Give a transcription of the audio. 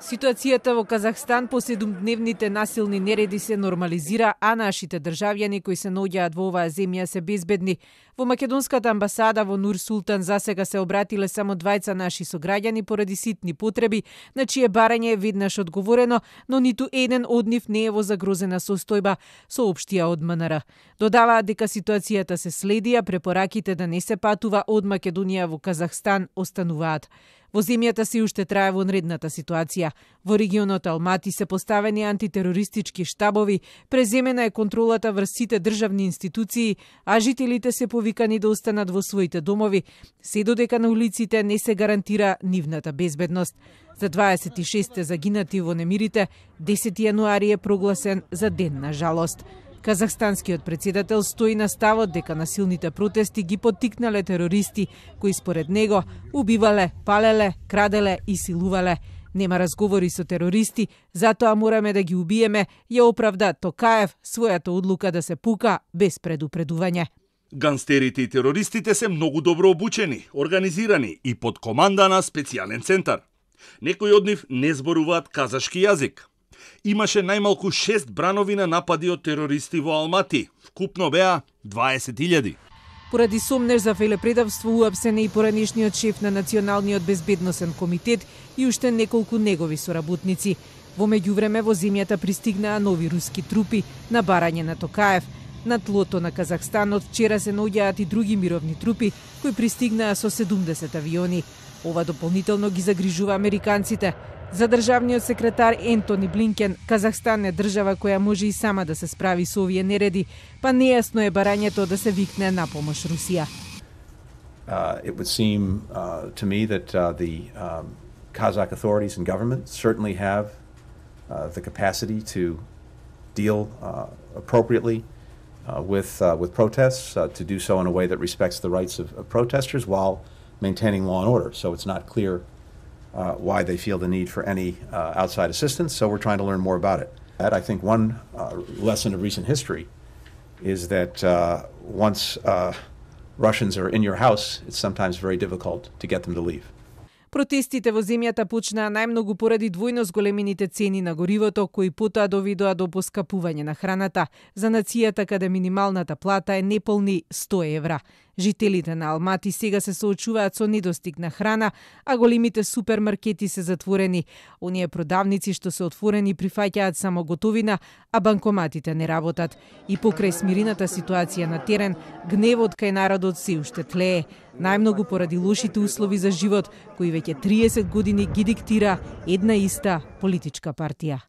Ситуацијата во Казахстан по 7-дневните насилни нереди се нормализира, а нашите државјани кои се наоѓаат во оваа земја се безбедни. Во македонската амбасада во Нур Султан засега се обратиле само 2 наши сограѓани поради ситни потреби, на чие барање е веднаш одговорено, но ниту еден од нив не е во загрозена состојба, соопштија од МНР. Додаваат дека ситуацијата се следи, а препораките да не се патува од Македонија во Казахстан остануваат. Во земјата се уште трае вонредната ситуација. Во регионот Алмати се поставени антитерористички штабови, преземена е контролата врз сите државни институции, а жителите се повикани да останат во своите домови, се додека на улиците не се гарантира нивната безбедност. За 26 загинати во немирите, 10 јануари е прогласен за ден на жалост. Казахстанскиот председател стои на ставот дека насилните протести ги поттикнале терористи, кои според него убивале, палеле, краделе и силувале. Нема разговори со терористи, затоа мораме да ги убиеме, ја оправда Токаев својата одлука да се пука без предупредување. Ганстерите и терористите се многу добро обучени, организирани и под команда на специјален центар. Некои од нив не зборуваат казашки јазик. Имаше најмалку 6 бранови на напади од терористи во Алмати. Вкупно беа 20.000. Поради сомнеж за велепредавство уапсен е и поранешниот шеф на Националниот безбедносен комитет и уште неколку негови соработници. Во меѓувреме во земјата пристигнаа нови руски трупи на барање на Токаев. На тлото на Казахстан од вчера се наоѓаат и други мировни трупи кои пристигнаа со 70 авиони. Ова дополнително ги загрижува американците. За државниот секретар Ентони Блинкен, Казахстан е држава која може и сама да се справи со овие нереди, па нејасно е барањето да се викне на помош Русија. It would seem to me that the Kazakh authorities and government certainly have the capacity to deal appropriately with protests, to do so in a way that respects the rights of protesters while maintaining law and order. So it's not clear why they feel the need for any outside assistance, so we're trying to learn more about it. I think one lesson of recent history is that once Russians are in your house, it's sometimes very difficult to get them to leave. Протестите во земјата почнаа најмногу поради двојно зголемените цени на горивото, кои потоа доведоа до поскапување на храната. За нацијата каде минималната плата е неполни 100 евра. Жителите на Алмати сега се соочуваат со недостиг на храна, а големите супермаркети се затворени. Оние продавници што се отворени прифаќаат само готовина, а банкоматите не работат. И покрај смирената ситуација на терен, гневот кај народот се уште тлее. Најмногу поради лошите услови за живот, кои веќе 30 години ги диктира една иста политичка партија.